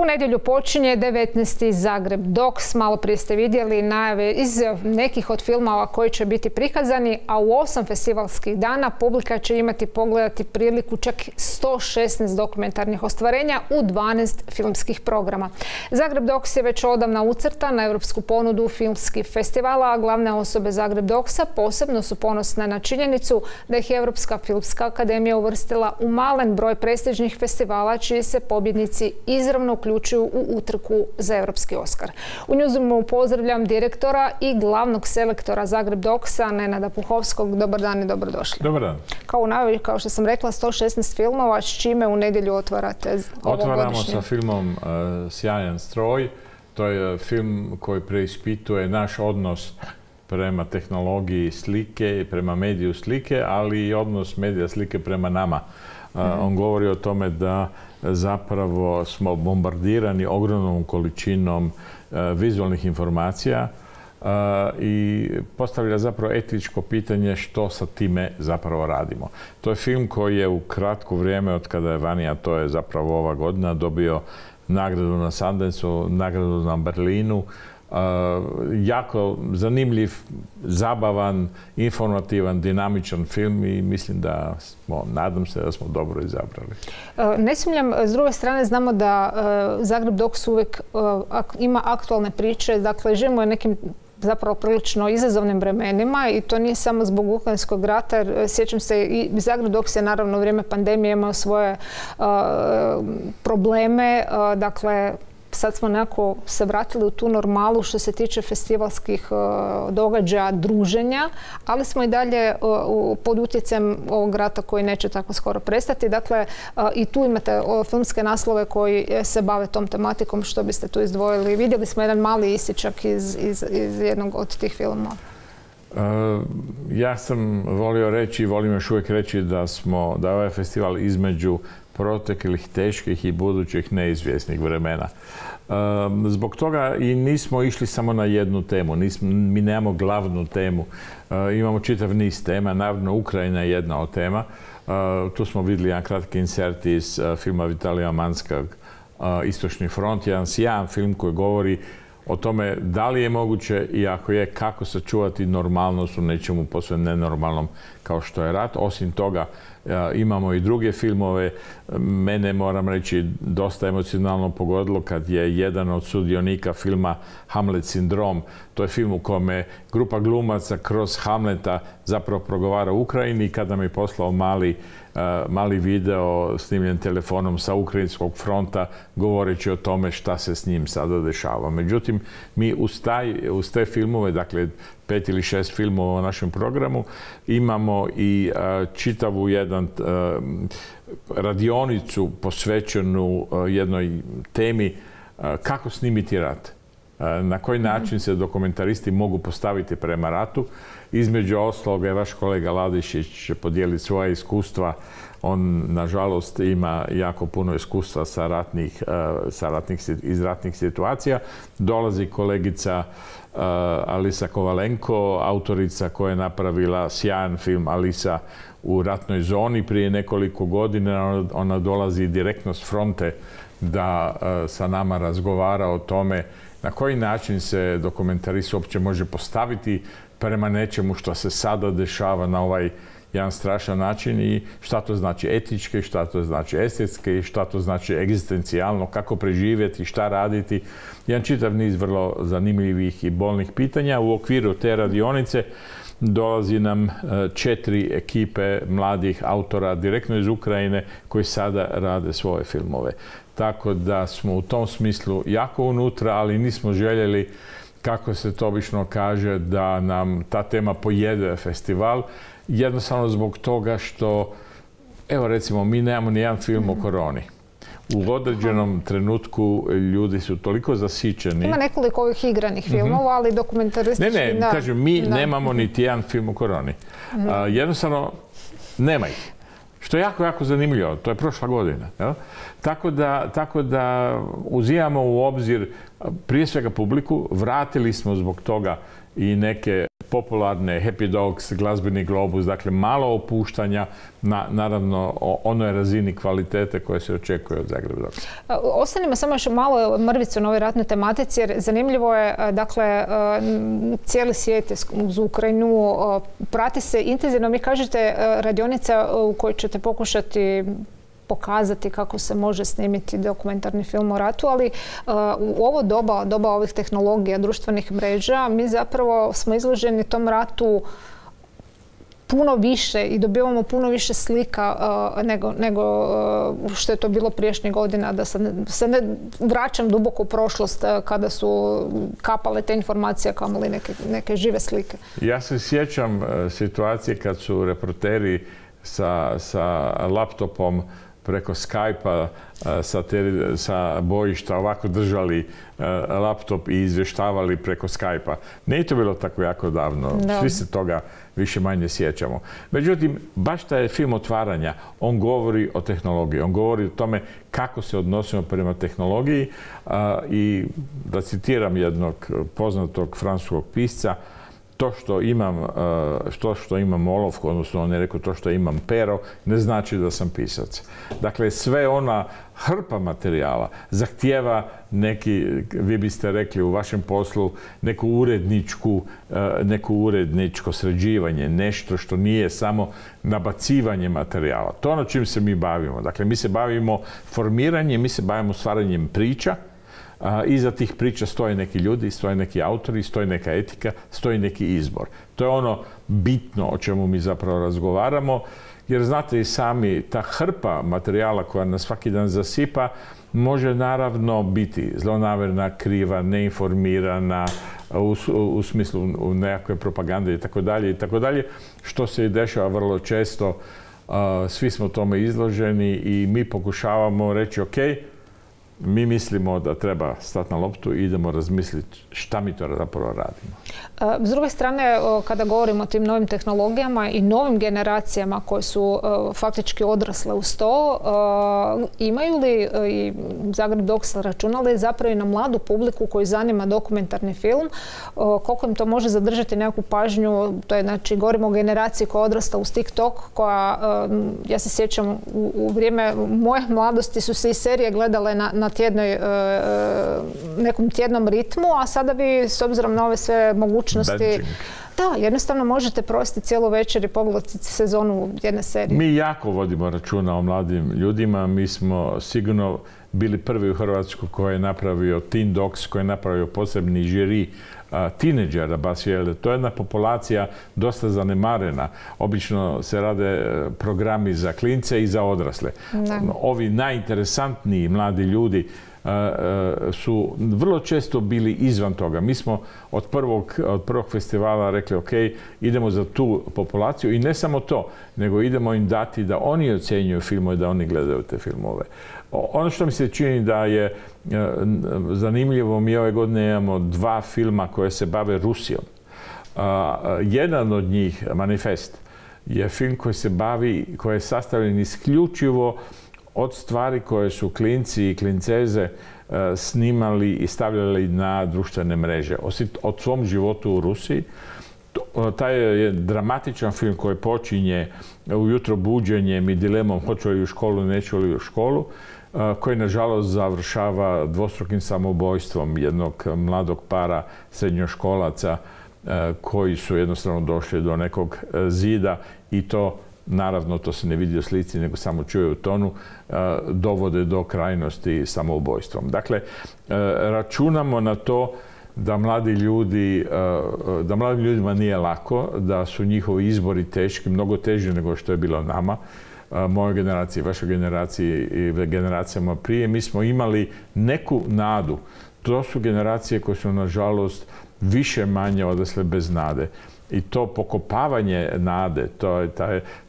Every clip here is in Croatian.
U nedjelju počinje 19. Zagreb Docs. Malo prije ste vidjeli najave iz nekih od filmova koji će biti prikazani, a u 8 festivalskih dana publika će imati pogledati priliku čak 116 dokumentarnih ostvarenja u 12 filmskih programa. Zagreb Docs je već odavna ucrtan na europsku ponudu filmskih festivala, a glavne osobe Zagreb Docsa posebno su ponosne na činjenicu da ih je Europska filmska akademija uvrstila u malen broj prestižnih festivala čiji se pobjednici izravno uključuju u utrku za Europski Oskar. U Newsroomu pozdravljam direktora i glavnog selektora Zagreb Docsa, Nenada Puhovskog. Dobar dan i dobrodošli. Dobar dan. Kao u najavi, kao što sam rekla, 116 filmova, s čime u nedjelju otvarate ovogodišnje? Otvaramo sa filmom Sjajan stroj. To je film koji preispituje naš odnos prema tehnologiji slike i prema mediju slike, ali i odnos medija slike prema nama. On govori o tome da zapravo smo bombardirani ogromnom količinom vizualnih informacija i postavlja zapravo etičko pitanje što sa time zapravo radimo. To je film koji je u kratko vrijeme od kada je vani, a to je zapravo ova godina, dobio nagradu na Sundanceu, nagradu na Berlinu. Jako zanimljiv, zabavan, informativan, dinamičan film i mislim da smo, nadam se da smo dobro izabrali. Ne sumnjam, s druge strane znamo da Zagreb Docs uvijek ima aktualne priče, dakle živimo u nekim zapravo prilično izazovnim vremenima i to nije samo zbog Ukrajinskog rata, jer sjećam se i Zagreb Docs je naravno u vrijeme pandemije imao svoje probleme, dakle sad smo nekako se vratili u tu normalu što se tiče festivalskih događaja, druženja, ali smo i dalje pod utjecajem ovog rata koji neće tako skoro prestati. Dakle, i tu imate filmske naslove koji se bave tom tematikom. Što biste tu izdvojili? Vidjeli smo jedan mali isičak iz jednog od tih filmova. Ja sam volio reći i volim još uvijek reći da je ovaj festival između proteklih, teških i budućih neizvjesnih vremena. Zbog toga i nismo išli samo na jednu temu. Mi nemamo glavnu temu. Imamo čitav niz tema. Naravno, Ukrajina je jedna od tema. Tu smo vidjeli jedan kratki insert iz filma Vitalija Manskog Istočni front. Jedan sjajan film koji govori o tome da li je moguće i ako je, kako sačuvati normalnost u nečemu posve nenormalnom kao što je rat. Osim toga, imamo i druge filmove. Mene, moram reći, dosta emocionalno pogodilo kad je jedan od sudionika filma Hamlet sindrom. To je film u kome grupa glumaca kroz Hamleta zapravo progovara u Ukrajini i kad nam je poslao mali video snimljen telefonom sa ukrajinskog fronta govoreći o tome šta se s njim sada dešava. Međutim, mi uz te filmove, dakle 5 ili 6 filmova u našem programu, imamo i čitavu jedan radionicu posvećenu jednoj temi kako snimiti rat. Na koji način se dokumentaristi mogu postaviti prema ratu. Između ostaloga je vaš kolega Ladišić podijeliti svoja iskustva. On, nažalost, ima jako puno iskustva iz ratnih situacija. Dolazi kolegica Alisa Kovalenko, autorica koja je napravila sjajan film Alisa u ratnoj zoni prije nekoliko godina. Ona dolazi direktno s fronte da sa nama razgovara o tome na koji način se dokumentarist uopće može postaviti prema nečemu što se sada dešava na ovaj jedan strašan način i šta to znači etički, šta to znači estetski, šta to znači egzistencijalno, kako preživjeti, šta raditi. Jedan čitav niz vrlo zanimljivih i bolnih pitanja. U okviru te radionice dolazi nam 4 ekipe mladih autora direktno iz Ukrajine koji sada rade svoje filmove. Tako da smo u tom smislu jako unutra, ali nismo željeli, kako se to obično kaže, da nam ta tema pojede festival. Jednostavno zbog toga što, evo recimo, mi nemamo ni jedan film o koroni. U određenom trenutku ljudi su toliko zasićeni. Ima nekoliko ovih igranih filmova, ali dokumentaristički... Ne, kažem, mi nemamo niti jedan film o koroni. Jednostavno, nema ih. Što je jako, jako zanimljivo. To je prošla godina. Tako da uzimamo u obzir prije svega publiku. Vratili smo zbog toga i neke popularne Happy Dogs, Glazbeni globus, dakle malo opuštanja na, naravno, onoj razini kvalitete koje se očekuje od Zagreb Dogsa. Ostanimo samo još malo mrvicu na ovoj ratnoj tematici, jer zanimljivo je, dakle, cijeli svijet uz Ukrajinu prati se intenzivno. Mi kažete radionica u kojoj ćete pokušati pokazati kako se može snimiti dokumentarni film o ratu, ali u ovo doba ovih tehnologija, društvenih mreža, mi zapravo smo izloženi tom ratu puno više i dobivamo puno više slika nego što je to bilo prijašnjih godina, da se ne vraćam duboko u prošlost kada su kapale te informacije, kamoli neke žive slike. Ja se sjećam situacije kad su reporteri sa laptopom preko Skype-a sa bojišta ovako držali laptop i izvještavali preko Skype-a. Nije to bilo tako jako davno. Da. Svi se toga više manje sjećamo. Međutim, baš taj film otvaranja, on govori o tehnologiji. On govori o tome kako se odnosimo prema tehnologiji i da citiram jednog poznatog francuskog pisca, to što imam olovku, odnosno on je rekao to što imam pero, ne znači da sam pisac. Dakle, sve ona hrpa materijala zahtijeva neki, vi biste rekli u vašem poslu, neko uredničko sređivanje, nešto što nije samo nabacivanje materijala. To je ono čim se mi bavimo. Dakle, mi se bavimo formiranjem, mi se bavimo stvaranjem priča. Iza tih priča stoje neki ljudi, stoje neki autori, stoji neka etika, stoji neki izbor. To je ono bitno o čemu mi zapravo razgovaramo, jer znate i sami, ta hrpa materijala koja nas svaki dan zasipa može naravno biti zlonamjerna, kriva, neinformirana, u smislu nekakve propagande itd., što se i dešava vrlo često. Svi smo tome izloženi i mi pokušavamo reći ok, mi mislimo da treba stati na loptu i idemo razmisliti šta mi to zapravo radimo. S druge strane, kada govorimo o tim novim tehnologijama i novim generacijama koje su faktički odrasle uz to, imaju li i Zagreb Dogs računali zapravo i na mladu publiku koju zanima dokumentarni film, koliko im to može zadržati nekakvu pažnju, to je, znači, govorimo o generaciji koja je odrasla uz TikTok, koja, ja se sjećam, u vrijeme moje mladosti su se i serije gledale na nekom tjednom ritmu, a sada vi, s obzirom na ove sve mogućnosti, da, jednostavno možete provesti cijelu večer i pogledati sezonu jedne serije. Mi jako vodimo računa o mladim ljudima. Mi smo sigurno bili prvi u Hrvatskoj koji je napravio Teen Dogs, koji je napravio posebni žiri tineđera baš, jer to je jedna populacija dosta zanemarena. Obično se rade programi za klince i za odrasle. Ovi najinteresantniji mladi ljudi su vrlo često bili izvan toga. Mi smo od prvog festivala rekli ok, idemo za tu populaciju i ne samo to, nego idemo im dati da oni ocjenjuju filmove, da oni gledaju te filmove. Ono što mi se čini da je zanimljivo, mi ove godine imamo 2 filma koje se bave Rusijom. Jedan od njih, Manifest, je film koji je sastavljen isključivo od stvari koje su klinci i klinceze snimali i stavljali na društvene mreže. O svom životu u Rusiji. Taj je dramatičan film koji počinje ujutro buđenjem i dilemom hoću li u školu, neću li u školu, koji nažalost završava dvostrukim samoubojstvom jednog mladog para srednjoškolaca koji su jednostavno došli do nekog zida i to, naravno, to se ne vidi u slici, nego samo čuje u tonu, dovode do krajnosti samoubojstvom. Dakle, računamo na to da mladim ljudima nije lako, da su njihovi izbori teški, mnogo teži nego što je bilo nama, mojoj generaciji, vašoj generaciji i generacijama prije. Mi smo imali neku nadu. To su generacije koje su, nažalost, više manje odrasle bez nade. I to pokopavanje nade,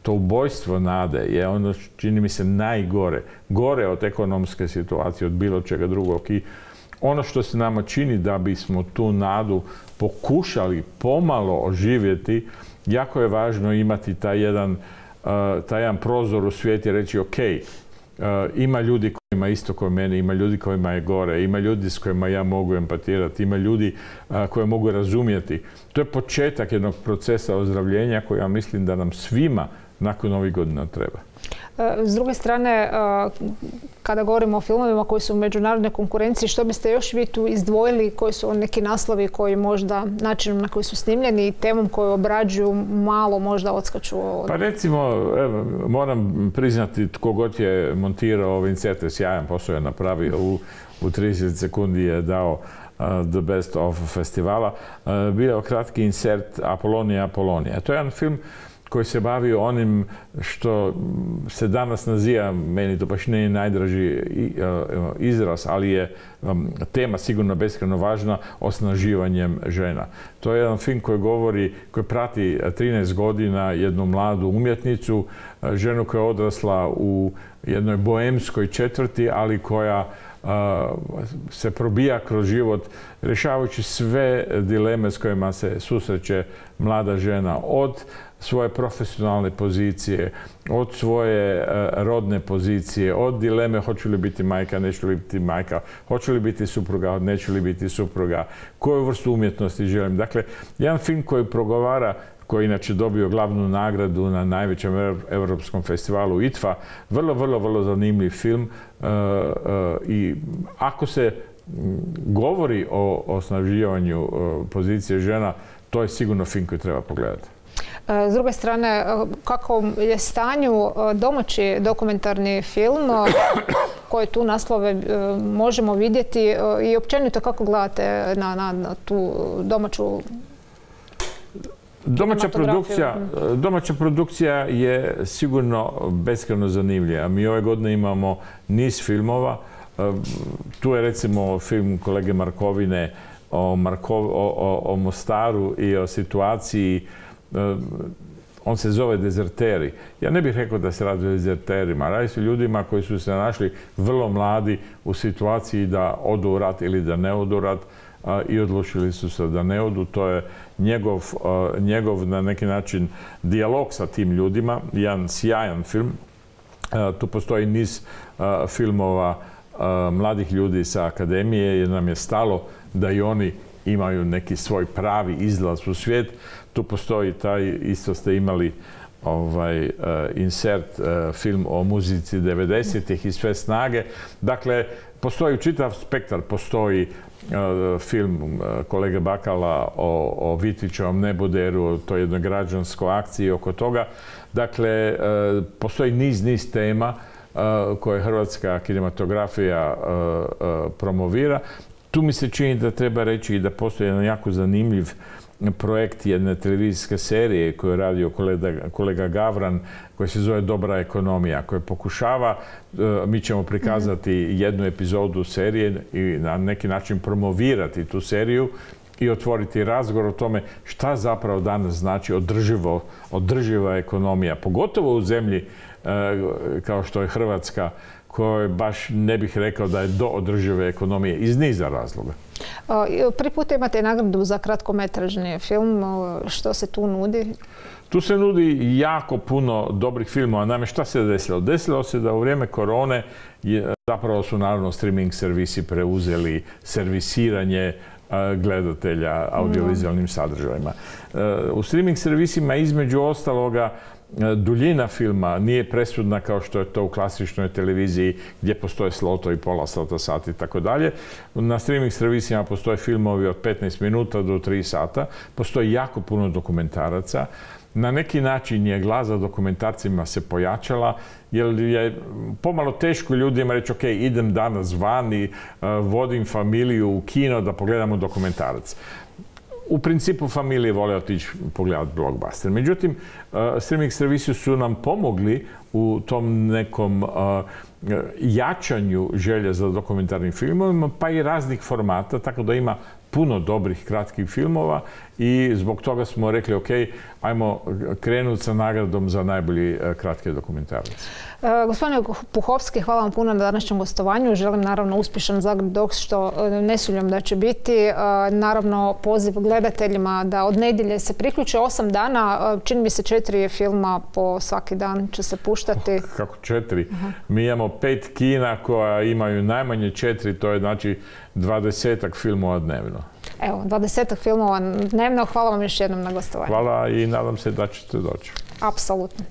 to ubojstvo nade je ono, čini mi se, najgore. Gore od ekonomske situacije, od bilo čega drugog. I ono što se nama čini da bismo tu nadu pokušali pomalo oživjeti, jako je važno imati taj jedan prozor u svijet i reći ok, ima ljudi ima isto kao meni, ima ljudi kojima je gore, ima ljudi s kojima ja mogu empatirati, ima ljudi koje mogu razumjeti. To je početak jednog procesa ozdravljenja koji ja mislim da nam svima nakon ovih godina treba. S druge strane, kada govorimo o filmovima koji su u međunarodnoj konkurenciji, što biste još vi tu izdvojili, koji su neki naslovi koji možda načinom na koji su snimljeni i temom koju obrađuju malo možda odskaču? Pa recimo, moram priznati tko god je montirao Vincete, sjajan posao je napravio, u 30 sekundi je dao The Best of festivala. Bio kratki insert Apolonija. To je jedan film koji se bavi onim što se danas naziva, meni to baš nije najdraži izraz, ali je tema sigurno beskrajno važna, osnaživanjem žena. To je jedan film koji prati 13 godina jednu mladu umjetnicu, ženu koja je odrasla u jednoj boemskoj četvrti, ali koja se probija kroz život rješavajući sve dileme s kojima se susreće mlada žena, od svoje profesionalne pozicije, od svoje rodne pozicije, od dileme hoću li biti majka, neću li biti majka, hoću li biti supruga, neću li biti supruga, koju vrstu umjetnosti želim. Dakle, jedan film koji progovara, koji inače dobio glavnu nagradu na najvećem europskom festivalu ITFA, vrlo zanimljiv film i ako se govori o osnaživanju pozicije žena, to je sigurno film koji treba pogledati. S druge strane, kako je stanju domaći dokumentarni film, koje tu naslove možemo vidjeti i općenito kako gledate na tu domaću Domaća produkcija je sigurno beskrajno zanimljiva. Mi ove godine imamo niz filmova. Tu je recimo film kolege Markovine o Mostaru i o situaciji. On se zove Dezerteri. Ja ne bih rekao da se radi o dezerterima. Radi se o ljudima koji su se našli vrlo mladi u situaciji da odu u rat ili da ne odu u rat i odlučili su se da ne odu. To je njegov na neki način dijalog sa tim ljudima. Jedan sjajan film. Tu postoji niz filmova mladih ljudi sa akademije jer nam je stalo da i oni imaju neki svoj pravi izlaz u svijet. Tu postoji taj, isto ste imali insert film o muzici 90-ih i sve snage. Dakle, postoji čitav spektar, postoji film kolege Bakala o Vitvićevom neboderu, to je jednoj građanskoj akciji oko toga. Dakle, postoji niz tema koje hrvatska kinematografija promovira. Tu mi se čini da treba reći i da postoji jedan jako zanimljiv projekt jedne televizijske serije koju je radio kolega Gavran, koji se zove Dobra ekonomija, koja pokušava, mi ćemo prikazati jednu epizodu serije i na neki način promovirati tu seriju i otvoriti razgovor o tome šta zapravo danas znači održiva ekonomija, pogotovo u zemlji kao što je Hrvatska, koje baš ne bih rekao da je do održive ekonomije iz niza razloga. Prvi put imate nagradu za kratkometražni film. Što se tu nudi? Tu se nudi jako puno dobrih filmova. Naime, šta se desilo? Desilo se da u vrijeme korone zapravo su naravno streaming servisi preuzeli servisiranje gledatelja audiovizualnim sadržajima. U streaming servisima između ostaloga duljina filma nije presudna kao što je to u klasičnoj televiziji gdje postoje slotovi, pola sata, sat i tako dalje. Na streaming servisima postoje filmovi od 15 minuta do 3 sata. Postoji jako puno dokumentaraca. Na neki način je glasa dokumentarcima se pojačala, jer je pomalo teško ljudima reći ok, idem danas van i vodim familiju u kino da pogledamo dokumentarac. U principu familije vole otići pogledati blockbuster. Međutim, streaming servisi su nam pomogli u tom nekom jačanju želje za dokumentarnim filmovima, pa i raznih formata, tako da ima puno dobrih kratkih filmova i zbog toga smo rekli ok, ajmo krenuti sa nagradom za najbolji kratki dokumentarac. Gospodine Puhovski, hvala vam puno na današnjem gostovanju. Želim naravno uspješan Zagreb Docs, što ne sumnjam da će biti. Naravno poziv gledateljima da od nedjelje se priključe 8 dana. Čini mi se 4 filma po svaki dan će se puštati. Kako 4? Mi imamo 5 kina koja imaju najmanje 4, to je znači 20-ak filmova dnevno. Evo, 20-ak filmova dnevno. Hvala vam još jednom na gostovanju. Hvala i nadam se da ćete doći. Apsolutno.